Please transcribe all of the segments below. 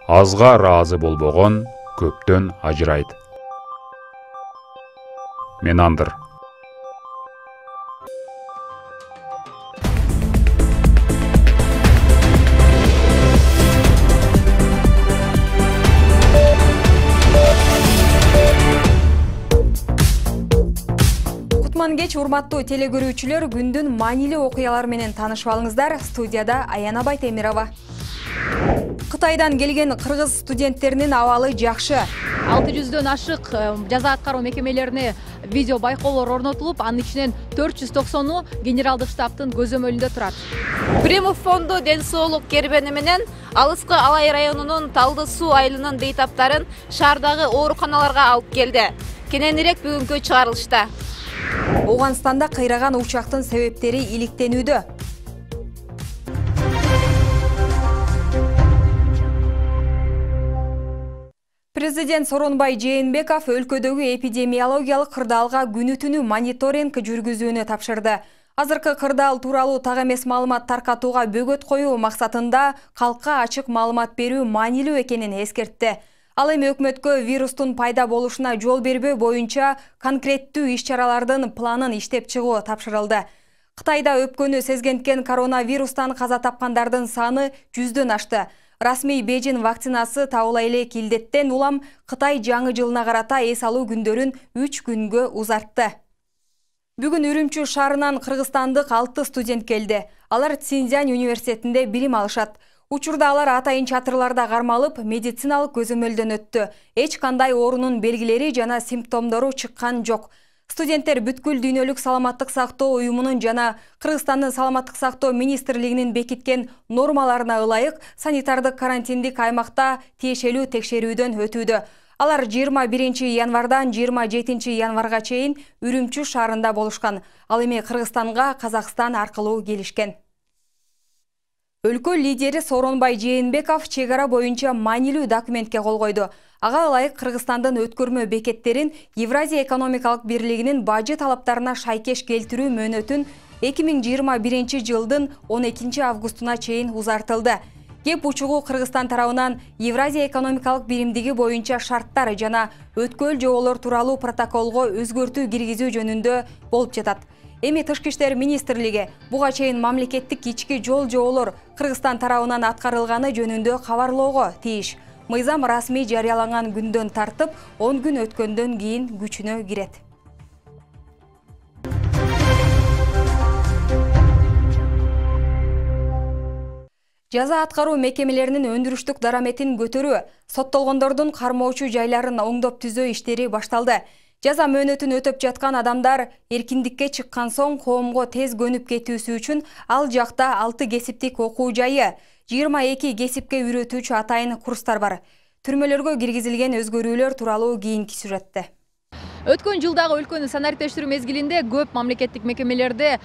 Азга ыраазы болбогон көптөн ажырайт. Менандыр. Кеч урматтуу телегөрүүчүлөр, күндүн маанилүү окуялары менен таанышып алыңыздар. Студияда Аяна Байтемирова. Кытайдан келген кыргыз студенттеринин абалы жакшы. 600дөн ашык жаза аткаруу мекемелерине видео байкоолор орнотулуп, анын ичинен 490у генералдык штабтын көзөмөлүндө турат. Примов фонду ден соолук кербени менен Алыскы Алай районунун Талды суу айылынын бейтаптарын шаардагы ооруканаларга алып келди. Кененирээк бүгүнкү чыгарылышта. Ооганстанда кыйраган учактын себептери иликтенүүдө. Президент Сооронбай Жээнбеков өлкөдөгү эпидемиологиялык кырдаалга күнү-түнү мониторинг жүргүзүүнү тапшырды. Азыркы кырдаал тууралуу так эмес маалымат таркатууга бөгөт коюу максатында калкка ачык маалымат берүү маанилүү экенин эскертти. Ал эми өкмөткө вирустун пайда болушуна жол бербөө боюнча конкреттүү иш-чаралардын планын иштеп чыгуу тапшырылды. Кытайда өпкөнү сезгенткен коронавирустан каза тапкандардын саны 100дөн ашты. Расмий Бейжин вакцинасы табыла элек илдеттен улам Кытай жаңы жылына карата эс алуу күндөрүн 3 күнгө узартты. Бүгүн Үрүмчү шаарынан кыргызстандык 6 студент келди. Алар Цзиньцзянь университетинде билим алышат. Учурда алар атайын чатырларда кармалып, медициналык көзөмөлдөн өттү. Эч кандай оорунун белгилери жана симптомдору чыккан жок. Студенттер бүткүл дүйнөлүк саламаттык сактоо уюмунун жана Кыргызстандын саламаттык сактоо министрлигинин бекиткен нормаларына ылайык санитардык карантиндик аймакта тиешелүү текшерүүдөн өтүүдө. Алар 21 январдан 27 январга чейин Үрүмчү шаарында болушкан. Ал эми Кыргызстанга Казакстан аркылуу келишкен. Өлкө лидери Сооронбай Жээнбеков чек ара боюнча маанилүү документке кол койду. Ага ылайык Кыргызстандын өткөрмө бекеттерин Евразия экономикалык бирлигинин бажы талаптарына шайкеш келтирүү мөөнөтүн 2021 жылдын 12 августуна чейин узартылды. Кеп учугу Кыргызстан тарабынан Евразия экономикалык биримдиги боюнча шарттар жана өткөл жоболор тууралуу протоколго өзгөртүү киргизүү жөнүндө болуп жатат. Эми Тышкы иштер министрлиги буга чейин мамлекеттик ички жол жоболор Кыргызстан тарабынан аткарылганы жөнүндө кабарлоого тийиш. Мыйзам расмий жарыяланган күндөн тартып 10 күн өткөндөн кийин күчүнө кирет. Жаза аткаруу мекемелеринин өндүрүштүк дараметин көтөрүү, соттолгондордун кармоочу жайларын оңдоп түзөө иштери башталды. Жаза мөөнөтүн өтөп жаткан адамдар эркиндикке чыккан соң коомго тез көнүп кетүүсү үчүн ал жакта 6 кесиптик окуу жайы, 22 кесипке үйрөтүүчү атайын курстар бар. Түрмөлөргө киргизилген өзгөрүүлөр тууралуу кийинки сюжетте. Өткөн жылдагы өлкөнү санариттештирүү мезгилинде көп мамлекеттик мекемелерде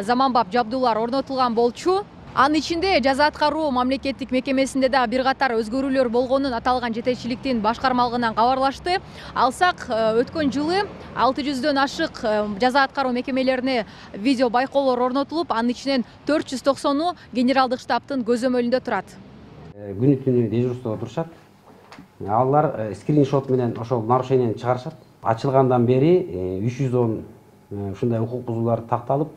заманбап жабдуулар орнотулган болчу. Анын ичинде жаза аткаруу мамлекеттик мекемесинде да бир катар өзгөрүүлөр болгонун аталган жетекчиликтин башкармалыгынан кабарлашты. Алсак, өткөн жылы 600дөн ашык жаза аткаруу мекемелерине видео байкоолор орнотулуп, анын ичинен 490у генералдык штабтын көзөмөлүндө турат. Күнү-түнү дежурстводо турушат. Алар скриншот менен ошол нарушенияны чыгарышат. Ачылгандан бери 310 ушундай укук бузуулар такталып,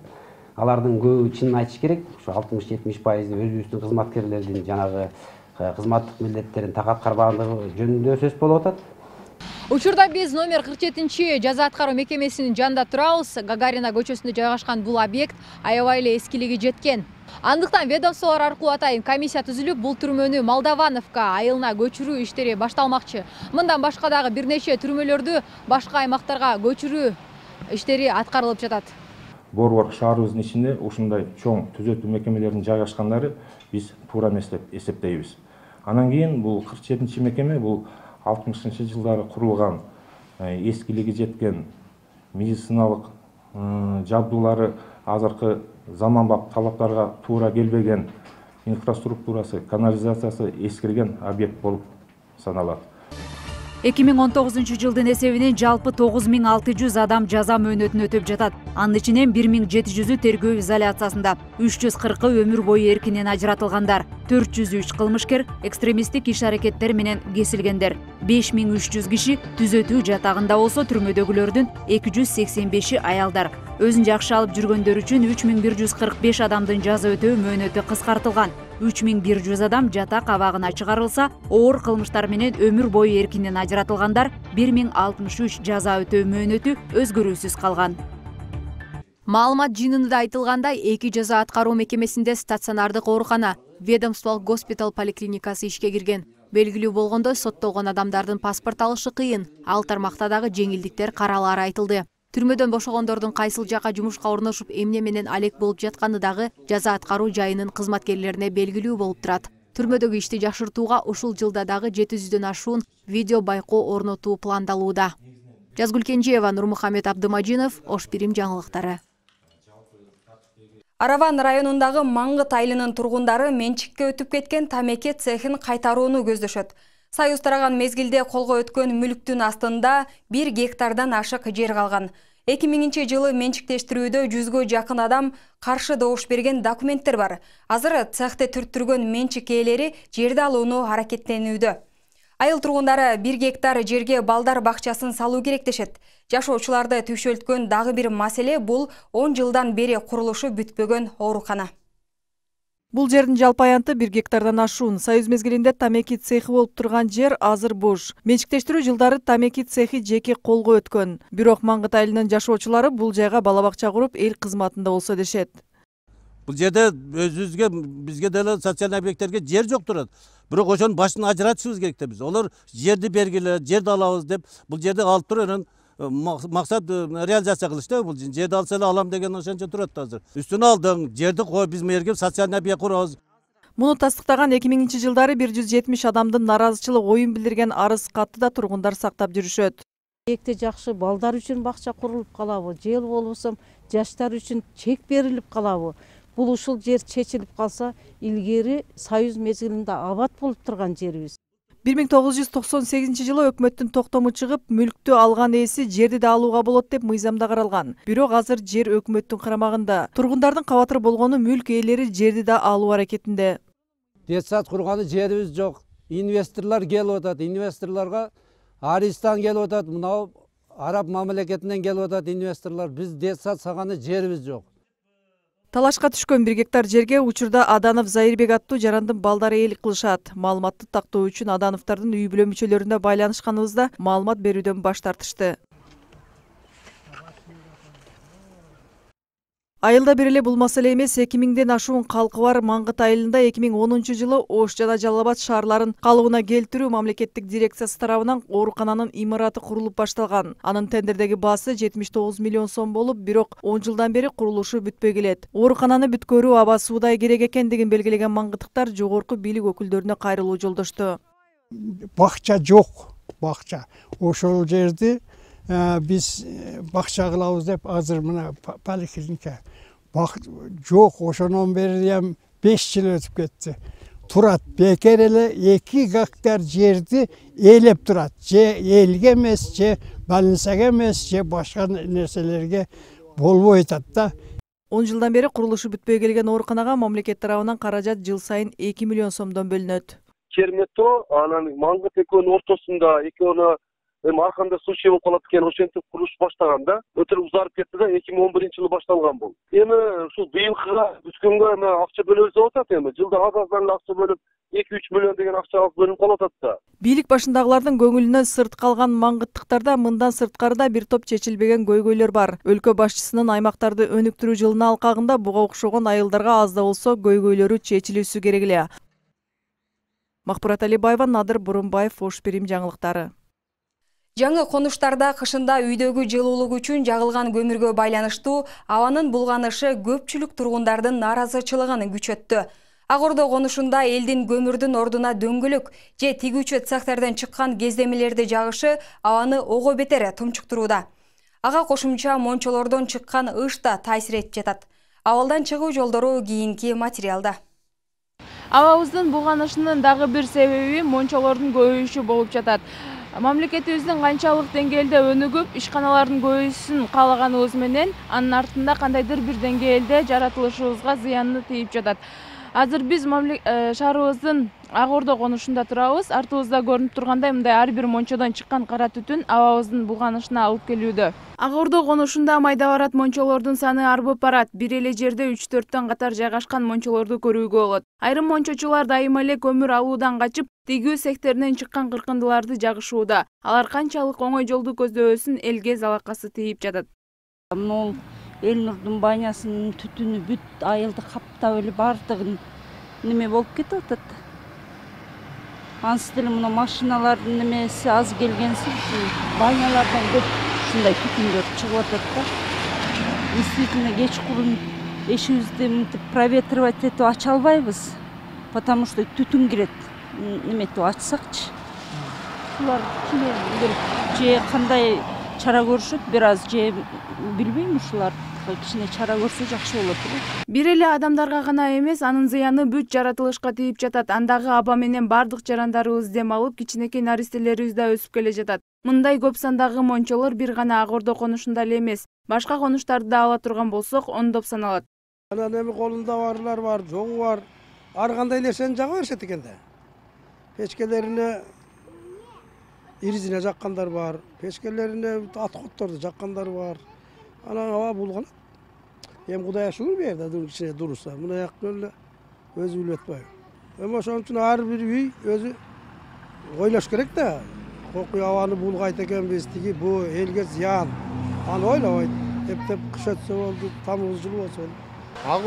алардын көбү чынын айтыш керек. Ушу 60-70% өзүбүздүн кызматкерлердин жанагы кызматтык милдеттерин так аткарбагандыгы жөнүндө сөз болуп атат. Учурда биз номер 47 жаза аткаруу мекемесинин жанында турабыз. Гагарина көчөсүндө жайгашкан бул объект аябай эле эскилиги жеткен. Андыктан ведомстволор аркылуу атайын комиссия түзүлүп, бул түрмөнү Молдавановка айылына көчүрүү иштери башталмакчы. Мындан башка дагы бир нече түрмөлөрдү башка аймактарга көчүрүү иштери аткарылып жатат. Борбор шаарыбыздын ичинде ушундай чоң түзөтүү мекемелеринин жайгашкандары биз туура эмес деп эсептейбиз. Анан кийин бул 47 мекеме бул 60-жылдары курулган, эскилиги жеткен медициналык жабдуулары азыркы заманбап талаптарга туура келбеген, инфраструктурасы, канализациясы эскирген объект болуп саналат. 2019 жылдын эсебинен жалпы 9600 адам жаза мөөнөтүн өтөп жатат. Анын ичинен 1700-ü тергөө изоляциясында, 340-ы өмүр бою эркинен ажыратылгандар, 403 кылмышкер экстремисттик иш-аракеттер менен кесилгендер. 5300 киши түзөтүү жатагында болсо, түрмөдөгүлөрдүн 285-и аялдар. Өзүн жакшы алып жүргөндөр үчүн 3145 адамдын жаза өтөө мөөнөтү кыскартылган. 3100 адам жатак абагына чыгарылса, оор кылмыштар менен өмүр бою эркинен ажыратылгандар 1063 жаза өтөө мөөнөтү өзгөрүүсүз калган. Маалымат жыйынында айтылгандай, 2 жаза аткаруу мекемесинде стационардык оорукана, ведомстволук госпиталь поликлиникасы ишке кирген. Белгилүү болгондой, соттолгон адамдардын паспорт алышы кыйын. Ал тармакта дагы жеңилдиктер каралары айтылды. Түрмөдөн бошогондордун кайсыл жака жумушка орношуп, эмне менен алек болуп жатканы дагы жаза аткаруу жайынын кызматкерлерине белгилүү болуп турат. Түрмөдөгү ишти жакшыртууга ушул жылда дагы 700дөн ашуун видео байкоо орнотуу пландалууда. Жазгүл Кенжеева, Нурмухамед Абдымажинов, Ош Бирим жаңылыктары. Араван районундагы Маңгыт айылынын тургундары менчикке өтүп кеткен тамеки цехин кайтарууну көздөшөт. Союз тараган мезгилде колго өткөн мүлктүн астында 1 гектардан ашык жер калган. 2000-жылы менчиктештирүүдө 100гө жакын адам каршы добуш берген документтер бар. Азыр цехти түрттүргөн менчик ээлери жерди алууну аракеттенүүдө. Айыл тургундары 1 гектар жерге балдар бакчасын салуу керек дешет. Жашоочуларды түйшөлткөн дагы бир маселе бул 10 жылдан бери курулушу бүтпөгөн оорукана. Бул жердин жалпы аянты 1 гектардан ашуун. Союз мезгилинде тамеки цехи болуп турган жер азыр бош. Менчиктештирүү жылдары тамеки цехи жеке колго өткөн. Бирок Маңгыт айылынын жашоочулары бул жайга бала бакча куруп, эл кызматында болсо дешет. Бул жерде өзүбүзгө, бизге деле социалдык объекттерге жер жок турат. Бирок ошонун башын ажыратышыбыз керек да биз. Олар жерди бергиле, жерди алабыз деп, бул жерди алып туруп, максат реализация кылыш да. Бул жерди алса эле алам деген ошончо турат азыр. Үстүнө алдың, жерди кой, биз мерге социалдык объект курабыз. Муну тастыктаган 2000-жылдары 170 адамдын наразычылык оюн билдирген арыз катты да тургундар сактап жүрүшөт. Экте жакшы балдар үчүн бакча курулуп калабы, жел болбосо жаштар үчүн чек берилип калабы. Бул ушул жер чечилип калса, илгери Союз мезгилинде абат болуп турган жерибиз. 1998-жылы өкмөттүн токтому чыгып, мүлктү алган ээси жерди да алууга болот деп мыйзамда каралган. Бирок азыр жер өкмөттүн карамагында. Тургундардын кабатыр болгону мүлк ээлери жерди да алуу аракетинде. Детсад курганы жерибиз жок. Инвесторлор келип атат. Инвесторлорго Аристан келип атат. Мынау араб мамлекетинен келип атат инвесторлор. Биз детсад саганы жерибиз жок. Талашка түшкөн 1 гектар жерге учурда Аданов Зайырбек аттуу жарандын балдары ээлик кылышат. Маалыматты тактоо үчүн Адановдордун үй бүлө мүчөлөрүнө байланышканыбызда маалымат берүүдөн баш тартышты. Айылда бир эле бул маселе эмес, 2000ден ашуун калкы бар Маңгыт айылында 2010-жылы Ош жана Жалал Абад шаарларын калыбына келтирүү мамлекеттик дирекциясы тарабынан оорукананын имараты курулуп башталган. Анын тендердеги баасы 79 миллион сом болуп, бирок 10 жылдан бери курулушу бүтпөй келет. Оорукананы бүткөрүү аба суудай керек экендигин белгилеген маңгыттыктар жогорку бийлик өкүлдөрүнө кайрылуу жолдошту. Бакча жок, бакча. Ошол жерди биз бакча кылабыз деп азыр мына поликлиника жок, ошонон бери 5 жыл өтүп кетти. Турат бекер эле 2 гектар жерди ээлеп турат. Же элге эмес, же больницага эмес, же башка нерселерге болбой атат да. 10 жылдан бери курулушу бүтпөй келген ооруканага мамлекет тарабынан каражат жыл сайын 2 миллион сомдон бөлүнөт. Чермето анан Маңгыт экөөнүн ортосунда экөөнү арканда случай болуп калат экен, ошентип курулуш баштаган да. Өтө узарып кетти да, 2011-жылы башталган бул. Эми ушул быйылкыга бүткөнгө акча бөлөбүз деп атат эми. Жылда аздан акча бөлүп 2-3 миллион деген акча бөлүнүп калып атат да. Бийлик башындагылардын көңүлүнөн сырт калган маңгыттыктарда мындан сырткары да бир топ чечилбеген көйгөйлөр бар. Өлкө башчысынын аймактарды өнүктүрүү жылына алкагында буга окшогон айылдарга аз да болсо көйгөйлөрү чечилүүсү керек эле. Макбурат Алибаева, Надыр Бурунбаев, Ош Бирим жаңылыктары. Жаңы конуштарда кышында үйдөгү жылуулук үчүн жагылган көмүргө байланыштуу абанын булганышы көпчүлүк тургундардын наразычылыгын күчөттү. Ак Ордо конушунда элдин көмүрдүн ордуна дөңгөлөк же тигүүчү цехтерден чыккан кездемелерди жагышы абаны ого бетер тумчуктурууда. Ага кошумча мончолордон чыккан ыш да таасир этип жатат. Абалдан чыгуу жолдору кийинки материалда. Абабыздын булганышынын дагы бир себеби мончолордун көбөйүшү болуп жатат. Мамлекетибиздин канчалык деңгээлде өнүгүп, ишканалардын көбөйүшүн каалаганыбыз менен анын артында кандайдыр бир деңгээлде жаратылышыбызга зыяны тийип жатат. Азыр биз шаарыбыздын Ак Ордо конушунда турабыз. Артыбызда көрүнүп тургандай, мындай ар бир мончодон чыккан кара түтүн абабыздын булганышына алып келүүдө. Ак Ордо конушунда майда барат мончолордун саны арбып барат. Бир эле жерде 3-4төн катар жайгашкан мончолорду көрүүгө болот. Айрым мончочулар дайыма эле көмүр алуудан качып, тигүү цехтеринен чыккан кыркындыларды жагышууда. Алар канчалык оңой жолду көздөбөсүн элге залакасы тийип жатат. Могул Элнурдун банясынын түтүнү бүт айылды каптап эле баардыгын неме болуп кетип атат. Ансы деле мына машиналардын немеси аз келгенсип, банялардан көп ушундай түтүндөр чыгып атат да. Действительно кечкурун эшигибизди мынтип проветривать этип ача албайбыз, потому что түтүн кирет. Неметип ачсакчы. Булар же кандай чара көрүшөт, бир аз же билбейм, ушулар кичине чара көрсө жакшы болот эле. Бир эле адамдарга гана эмес, анын зыяны бүт жаратылышка тийип жатат. Андагы аба менен бардык жарандарыбыз дем алып, кичинекей наристелерибиз да өсүп келе жатат. Мындай көп сандагы мончолор бир гана Ак Ордо конушунда эле эмес, башка конуштарды да ала турган болсок, ондоп саналат. Анан эми колунда барлар бар, жогу бар. Ар кандай нерсени жага беришет экен да. Печкелерине иризине жаккандар бар, печкелерине аткотторду жаккандар бар. Анан аба булганат. Эми Кудайга шүгүр бер да, кичине дуруса. Мына жактан эле өзү билип атпайбы. Эми ошон үчүн ар бир үй өзү ойлош керек да. Окуй абаны булгайт экенбиз, тиги бу элге зыян. Аны ойлобойт. Эптеп кыш өтсө болду, тамыз жыл болсо болду. Ак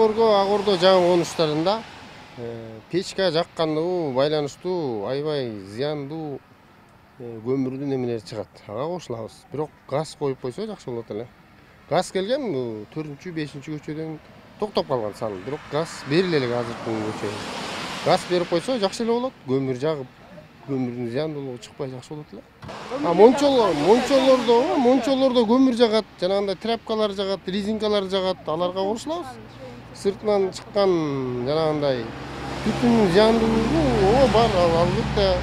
Ордо жаңы конуштарында печка жаккандуу, байланыштуу, аябай зыяндуу көмүрдүн эмелери чыгат. Ага кошулабыз. Бирок газ коюп койсо жакшы болот эле. Газ келген 4-5-көчөдөн токтоп калган сан. Бирок газ бериле элек азыркы көчөгө. Газ берип койсо жакшы эле болот. Көмүр жагып, көмүрдүн зыяндуулугу чыкпай жакшы болот эле. Мончолордо көмүр жагат, жанагындай тряпкалар жагат, резинкалар жагат, аларга кошулабыз. Сыртынан чыккан жанагындай түтүн зыяндуулугу бар, албетте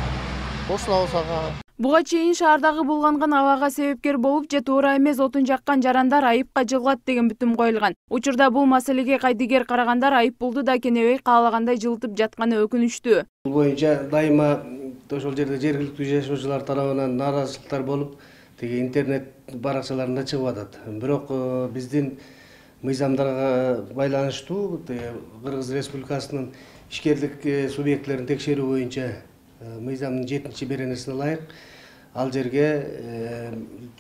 кошулабыз ага. Буга чейин шаардагы булганган абага себепкер болуп, же туура эмес отун жаккан жарандар айыпка жыгылат деген бүтүм коюлган. Учурда бул маселеге кайдыгер карагандар айыппулду да кенебей каалагандай жылытып жатканы өкүнүчтүү. Бул боюнча дайыма ошол жерде жергиликтүү жашоочулар тарабынан нааразычылыктар болуп, тиги интернет баракчаларында чыгып атат. Бирок биздин мыйзамдарга байланыштуу Кыргыз Республикасынын ишкерлик субъектилерин текшерүү боюнча мыйзамдын 7-беренесине ылайык ал жерге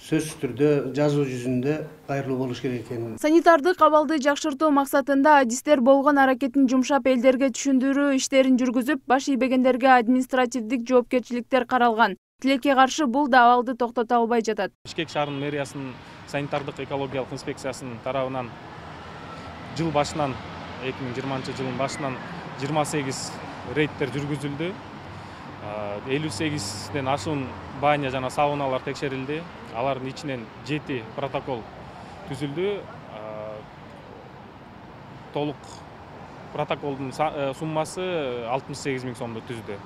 сөзсүз түрдө жазуу жүзүндө кайрылуу болуш керек экен. Санитардык абалды жакшыртуу максатында адистер болгон аракетин жумшап элдерге түшүндүрүү иштерин жүргүзүп, баш ийбегендерге административдик жоопкерчиликтер каралган. Тилекке каршы бул да абалды токтото албай жатат. Бишкек шаарынын мэриясынын санитардык экологиялык инспекциясынын тарабынан жыл башынан 2020-жылдын башынан 28 рейдтер жүргүзүлдү. 58ден ашуун баня жана сауналар текшерилди. Алардын ичинен 7 протокол түзүлдү. Толук протоколдун суммасы 68 000 сомду түздү.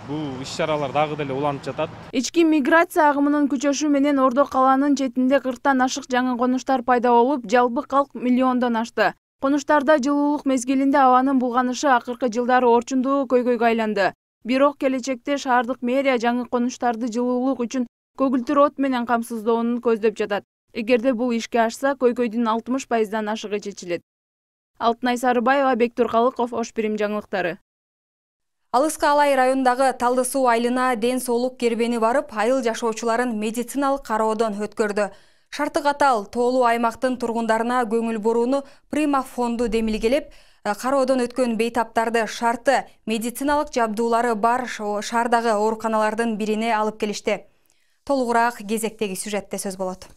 Бул иш-чаралар дагы деле уланып жатат. Ички миграция агымынын күчөшү менен Ордо калаанын четинде 40тан ашык жаңы конуштар пайда болуп, жалпы калк миллиондон ашты. Конуштарда жылуулук мезгилинде абанын булганышы акыркы жылдары орчундуу көйгөйгө айланды. Бирок келечекте шаардык мэрия жаңы конуштарды жылуулук үчүн көгүлтүр от менен камсыздоону көздөп жатат. Эгерде бул ишке ашса, көйгөйдүн 60%дан ашыгы чечилет. Алтынай Сарыбаева, Бектур Калыков, Ош Бирим жаңылыктары. Алыскы Алай районундагы Талды суу айылына ден соолук кербени барып, айыл жашоочуларын медициналык кароодон өткөрдү. Шарты катал тоолуу аймактын тургундарына көңүл бурууну Прима фонду демилгелеп, кароодон өткөн бейтаптарды шарты медициналык жабдуулары бар шаардагы ооруканалардын бирине алып келишти. Толугураак кезектеги сюжетте сөз болот.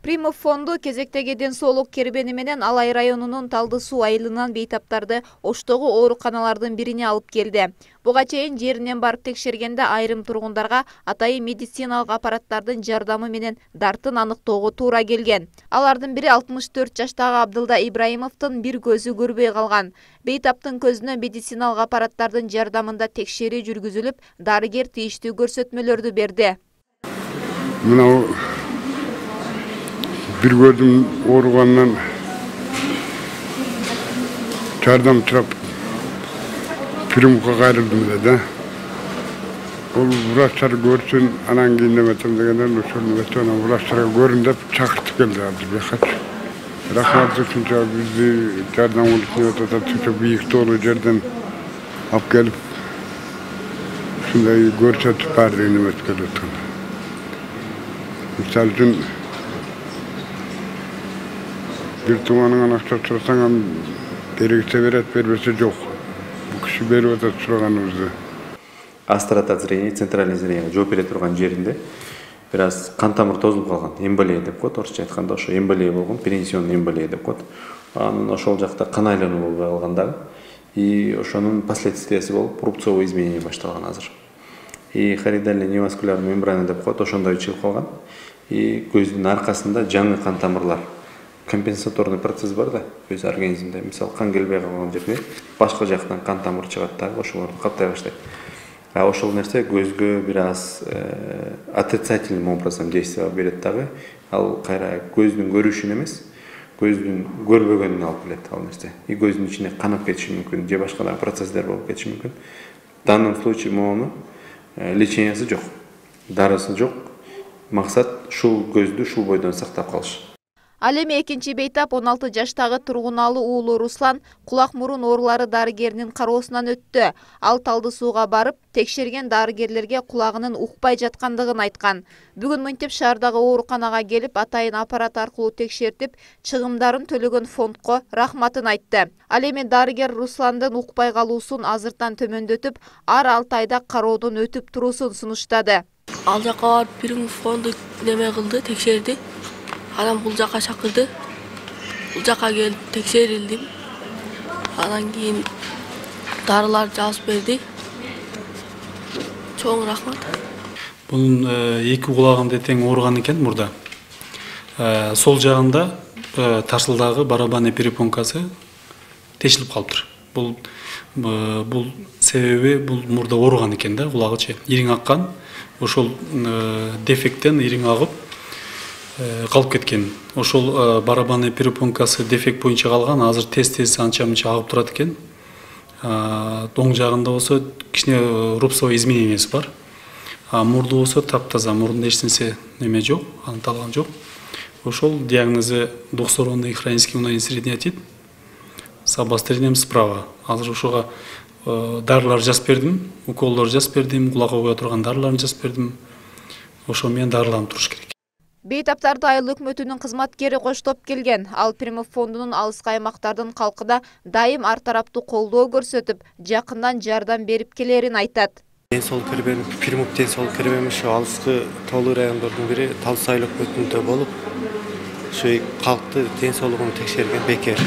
Примов фонду кезектеги ден соолук кербени менен Алай районунун Талды суу айылынан бейтаптарды Оштогу ооруканалардын бирине алып келди. Буга чейин жеринен барып текшергенде айрым тургундарга атайын медициналык аппараттардын жардамы менен дартын аныктоого туура келген. Алардын бири 64 жаштагы Абдылда Ибраимовдун бир көзү көрбөй калган. Бейтаптын көзүнө медициналык аппараттардын жардамында текшерүү жүргүзүлүп, дарыгер тийиштүү көрсөтмөлөрдү берди. Bir gözüm orugandan çardan çırap Primok'a ayrıldım dedi. O vraçlar görsün, anan giyinlemetim degenden vraçlara görün deyip çakırtıp geldi birkaç. Rahmatlı çünkü bizi çardan oluşuyor da çünkü büyük dolu yerden alıp gelip şunday görsetip verdiğini metkeledim. Misal için bir tumanın anakta tutsan gerekse veret vermesi yok. Bu kişi beri öte suraganımızda. Астрота зрения, центральный зрение жооп бере турган жеринде biraz кан тамыр тозулуп калган, эмболия деп коет, орусча айтканда ошо эмболия болгон, перенесионный эмболия деп коет. Анын ошол жакта кан айлануу болбой калган дагы. И ошонун последствиясы болуп рубцовое изменение башталган азыр. И хоридальный неваскулярный мембрана деп коет, ошондой чыгып калган. И көздүн аркасында жаңы кан тамырлар компенсаторный процесс бар да, көз организмде. Мисалы кан келбей калган жерге башка жактан кан тамыр чыгат да, ошолорду каптай баштайт. А ошол нерсе көзгө biraz отрицательным образом действие берет дагы. Ал кайра көздүн көрүшүн эмес, көздүн көрбөгөнүн алып келет ал нерсе. И көздүн ичине канып кетиши мүмкүн, же башка да процесстер болуп кетиши мүмкүн. В данном случае мону лечениясы жок, дарысы жок. Максат шул көздү шул бойдон сактап калыш. Ал эми экинчи бейтап 16 жаштагы тургуналы уулу Руслан кулак мурун оорулары дарыгеринин кароосунан өттү. Ал Талды сууга барып, текшерген дарыгерлерге кулагынын укпай жаткандыгын айткан. Бүгүн мынтип шаардагы ооруканага келип, атайын аппарат аркылуу текшертип, чыгымдарын төлөгөн фондко рахматын айтты. Ал эми дарыгер Русландын укпай калуусун азыртан төмөндөтүп, ар 6 айда кароодон өтүп туруусун сунуштады. Ал жака барып Примов фонду неме кылды, текшерди. Анан бул жака чакырды. Бул жака келип текшерилдим. Анан кийин дарылар жазып берди. Чоң рахмат. Бунун эки кулагында тең ооруган экен мурда. Сол жагында тарсылдагы барабанный перепонкасы тешилип калыптыр. Бул себеби бул мурда ооруган экен да, кулагычы. Ириң аккан. Ошол дефекттен ириң агып калып кеткен. Ошол барабанный перепонкасы дефект боюнча калган. Азыр тез анча-мынча агып турат экен. Оң жагында болсо кичине рубцовое изменениясы бар. Мурду болсо таптаза, мурдунда эч нерсе неме жок, анықталган жок. Ошол диагнозу двухсторонний хронический унойный средний с обострением справа. Азыр ошого дарылар жазып бердим, уколдор жазып бердим, кулакка кое турган дарыларын жазып бердим. Ошо менен дарыланып туруш керек. Бейтаптарды айыл өкмөтүнүн кызматкери коштоп келген. Ал Примов фондунун алыскы аймактардын калкына дайым ар тараптуу колдоо көрсөтүп, жакындан жардам берип келерин айтат. Ден соолук кербени, Примов ден соолук кербени ушу алыскы тоолуу райондордун бири Талды суу айыл өкмөтүндө болуп, ушу калкты ден соолугун текшерген бекер.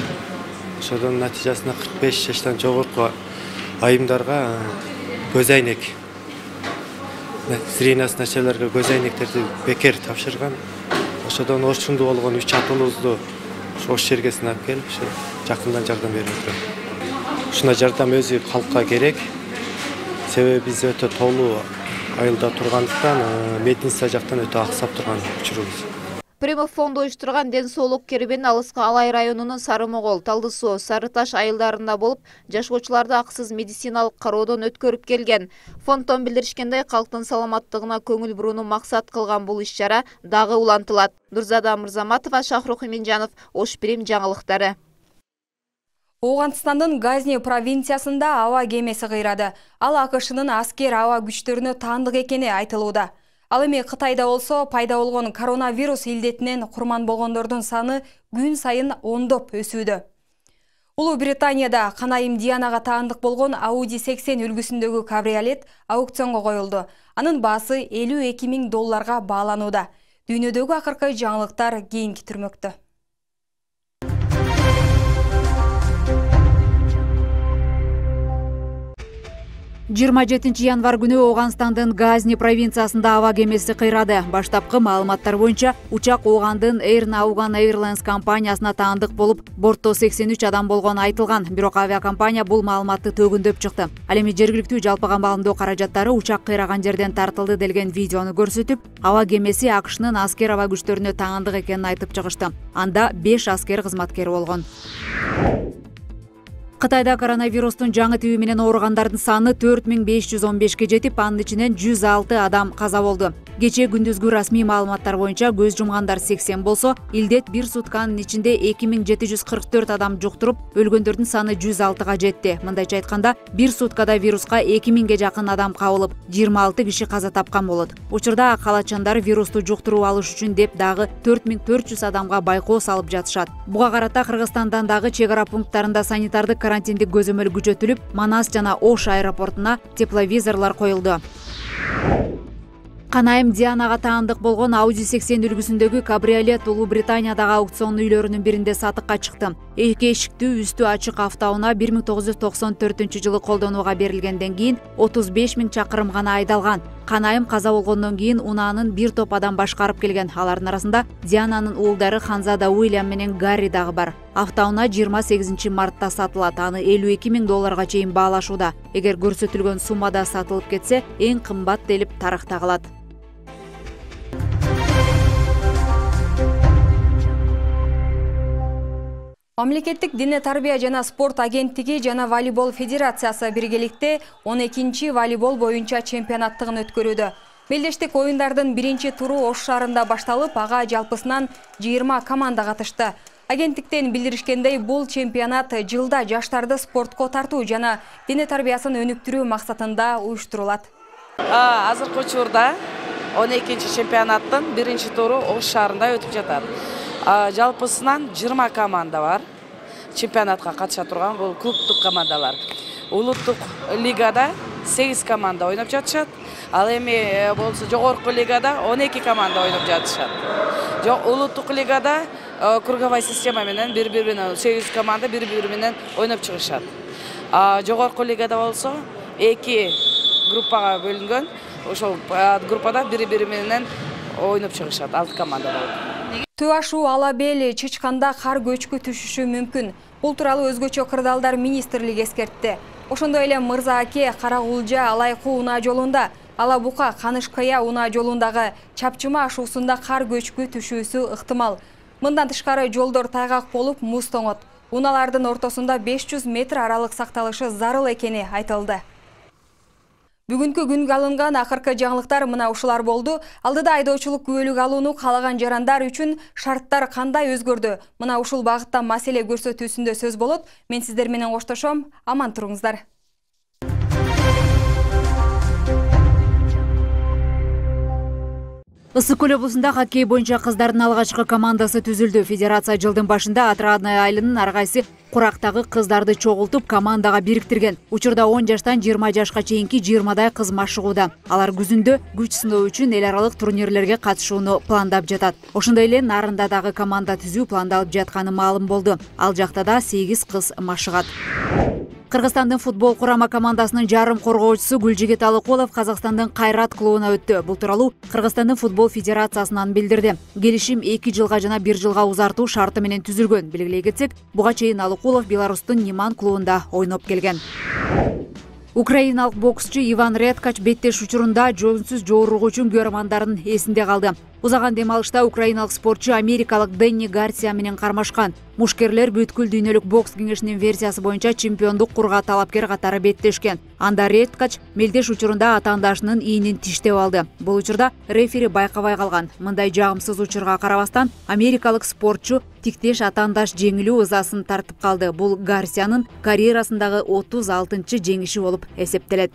Ошодон натыйжасында 45 жаштан жогорку айымдарга көз айнек, зрениясы начарларга көз айнектерди бекер тапшырган. Ошодон орчундуу болгон 3 атуулубузду ош жерге сынап келип, жакындан жардам берип отурат. Ушундай жардам өзү калкка керек. Себеби биз өтө тоолуу айылда тургандыктан медицина жактан өтө аксап турган учурубуз. Примов фонду уюштурган ден соолук кербени алыскы Алай районунун Сарымогол, Талды суу, Сары Таш айылдарында болуп, жашоочуларды акысыз медициналык кароодон өткөрүп келген. Фонддон билдиришкендей, калктын саламаттыгына көңүл бурууну максат кылган бул иш-чара дагы улантылат. Нурзада Мырзаматова, Шахрух Иминжанов, Ош Прим жаңылыктары. Оғанстандын Газни провинциясында аба кемеси кыйрады. Ал АКШнын аскер аба күчтөрүнө таандык экени айтылууда. Ал эми Кытайда болсо пайда болгон коронавирус илдетинен курман болгондордун саны күн сайын ондоп өсүүдө. Улуу Британияда канайым Дианага таандык болгон Audi 80 үлгүсүндөгү кабриолет аукционго коюлду. Анын баасы $52 000 бааланууда. Дүйнөдөгү акыркы жаңылыктар кийинки түрмөктө. 27 январ күнү Оганстандын Газни провинциясында аба кемеси кыйрады. Баштапкы маалыматтар боюнча учак Огандын Air Naugan Airlines компаниясына таандык болуп, бортто 83 адам болгону айтылган. Бирок авиакомпания бул маалыматты төгүндөп чыкты. Ал эми жергиликтүү жалпы камбалындоо каражаттары учак кыйраган жерден тартылды делген видеону көрсөтүп, аба кемеси АКШнын аскер аба күчтөрүнө таандык экенин айтып чыгышты. Анда 5 аскер кызматкери болгон. Кытайда коронавирустун жаңы тиби менен ооругандардын саны 4515ке жетип, анын ичинен 106 адам каза болду. Кечээ күндүзгү расмий маалыматтар боюнча көз жумгандар 80 болсо, илдет бир сутканын ичинде 2744 адам жуктуруп, өлгөндөрдүн саны 106га жетти. Мындайча айтканда, бир суткада вируска 2000ге жакын адам кабылып, 26 киши каза тапкан болот. Учурда калачандар вирусту жуктуруп алыш үчүн деп дагы 4400 адамга байкоо салып жатышат. Буга карата Кыргызстандан дагы чек ара пункттарында санитардык карантиндик көзөмөл күчөтүлүп, Манас жана Ош аэропортуна тепловизорлор коюлду. Канайым Дианага таандык болгон Audi 80 үлгүсүндөгү кабриолет Улуу Британиядагы аукцион үйлөрүнүн биринде сатыкка чыкты. Эки эшиктүү үстү ачык автоунаа 1994-жылы колдонууга берилгенден кийин 35 000 чакырым гана айдалган. Канайым каза болгондон кийин унаанын бир топ адам башкарып келген. Алардын арасында Диананын уулдары Ханзада Уильям менен Гарри дагы бар. Автоунаа 28 мартта сатылат. Аны $52 000 чейин баалашууда. Эгер көрсөтүлгөн суммада сатылып кетсе, эң кымбат делип тарыхта калат. Мамлекеттик Дине тарбия жана спорт агенттиги жана волейбол федерациясы биргеликте 12-чи волейбол боюнча чемпионаттыгын өткөрүүдө. Мелдештик оюндардын биринчи туру Ош шаарында башталып, ага жалпысынан 20 команда катышты. Агенттиктен билдиришкендей, бул чемпионат жылда жаштарды спортко тартуу жана дине тарбиясын өнүктүрүү максатында уюштурулат. Азыркы учурда 12-чи чемпионаттын биринчи туру Ош шаарында өтүп жатат. Жалпысынан 20 команда бар. Чемпионатка катыша турган бул клубтук командалар. Улуттук лигада 8 команда ойноп жатышат. Ал эми болсо жогорку лигада 12 команда ойноп жатышат. Улуттук лигада круговой система менен бири-бири 8 команда бири-бири менен ойноп чыгышат. Жогорку лигада болсо 2 группага бөлүнгөн. Ошол группада бири-бири менен ойноп чыгышат 6 команда болот. Төө ашуу ала бел чычканда кар көчкү түшүшү мүмкүн. Бул тууралуу өзгөчө кырдаалдар министрлиги эскертти. Ошондой эле Мырза Аке, Карагулжа, Алайкуу унаа жолунда, Ала Бука, Канышкая унаа жолундагы чапчыма ашуусунда кар көчкү түшүүсү ыктымал. Мындан тышкары жолдор тайгак болуп, муз тоңот. Унаалардын ортосунда 500 метр аралык сакталышы зарыл экени айтылды. Бүгүнкү күнгө алынган акыркы жаңылыктар мына ушулар болду. Алдыда айдоочулук күбөлүк алууну каалаган жарандар үчүн шарттар кандай өзгөрдү? Мына ушул багытта маселе көрсөтүүсүндө сөз болот. Мен сиздер менен коштошом. Аман туруңуздар. Ысык көл облусунда хоккей боюнча кыздардын алгачкы командасы түзүлдү. Федерация жылдын башында Отрадная айылынын ар кайсы курактагы кыздарды чогултуп командага бириктирген. Учурда 10 жаштан 20 жашка чейинки 20дай кыз машыгууда. Алар күзүндө күч сыноо үчүн эл аралык турнирлерге катышууну пландап жатат. Ошондой эле Нарында дагы команда түзүү пландалып жатканы маалым болду. Ал жакта да 8 кыз машыгат. Кыргызстандын футбол курама командасынын жарым коргоочусу Гүлжигит Алыкулов Казакстандын Кайрат клубуна өттү. Бул тууралуу Кыргызстандын футбол федерациясынан билдирди. Келишим 2 жылга жана 1 жылга узартуу шарты менен түзүлгөн. Белгилей кетсек, буга чейин Алыкулов Беларустун Ниман клубунда ойноп келген. Украиналык боксчу Иван Редкач беттеш учурунда жөнсүз жооругу үчүн көрөрмандардын эсинде калды. Узаган демалышта украиналык спортчу америкалык Денни Гарсия менен кармашкан. Мушкерлер бүткүл дүйнөлүк бокс кеңешинин версиясы боюнча чемпиондук курга талапкер катары беттешкен. Анда Редкач мелдеш учурунда атаандашынын ийинин тиштеп алды. Бул учурда рефери байкабай калган. Мындай жагымсыз учурга карабастан америкалык спортчу тиктеш атаандаш жеңилүү ызасын тартып калды. Бул Гарсиянын карьерасындагы 36-жеңиши болуп эсептелет.